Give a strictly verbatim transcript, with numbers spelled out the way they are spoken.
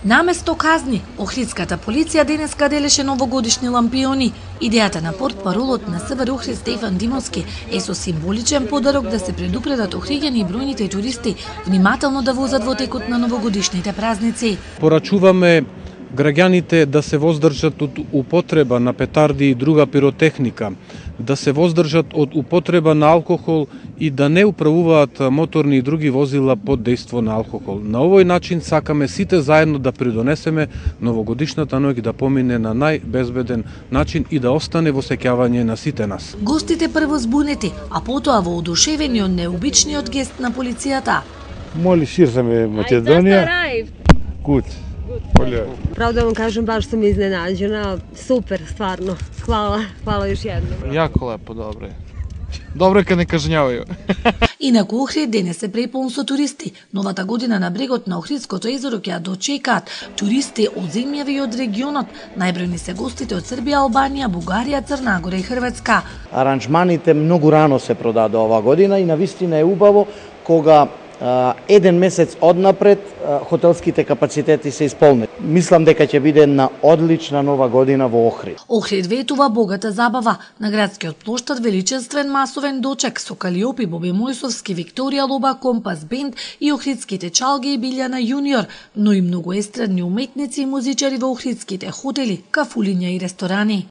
Наместо казни, Охридската полиција денеска делеше новогодишни лампиони. Идејата на портпаролот на СВР Охрид Стефан Димовски е со символичен подарок да се предупредат охриѓани и бројните туристи внимателно да возат во текот на новогодишните празници. Порачуваме граѓаните да се воздржат од употреба на петарди и друга пиротехника, да се воздржат од употреба на алкохол и да не управуваат моторни и други возила под дејство на алкохол. На овој начин сакаме сите заедно да придонесеме новогодишната ноќ да помине на најбезбеден начин и да остане во сеќавање на сите нас. Гостите прво збунети, а потоа воодушевени од необичниот гест на полицијата. Моли ширзаме Македонија. Good. Право да вам кажем, баш sam iznenađena. Super, stvarno. Hvala, hvala još jednom. Jako lepo, dobro je. Dobro je kad ne kažnjavaju. Инаку Охрид денес е преполн со туристи. Новата година на брегот на Охридското езеро ќе ја дочекаат туристи од земјави и од регионот. Најбројни се гостите од Србија, Албанија, Бугарија, Црна Гора и Хрватска. Аранжманите многу рано се продаде ова година и навистина е убаво кога еден месец однапред хотелските капацитети се исполнет. Мислам дека ќе биде една одлична нова година во Охрид. Охрид ветува богата забава. На градскиот плоштад величествен масовен дочек со Калиопи, Боби Мојсовски, Викторија Лоба, Компас Бенд и охридските чалги и Билјана Јуниор, но и многу естрадни уметници и музичари во охридските хотели, кафулиња и ресторани.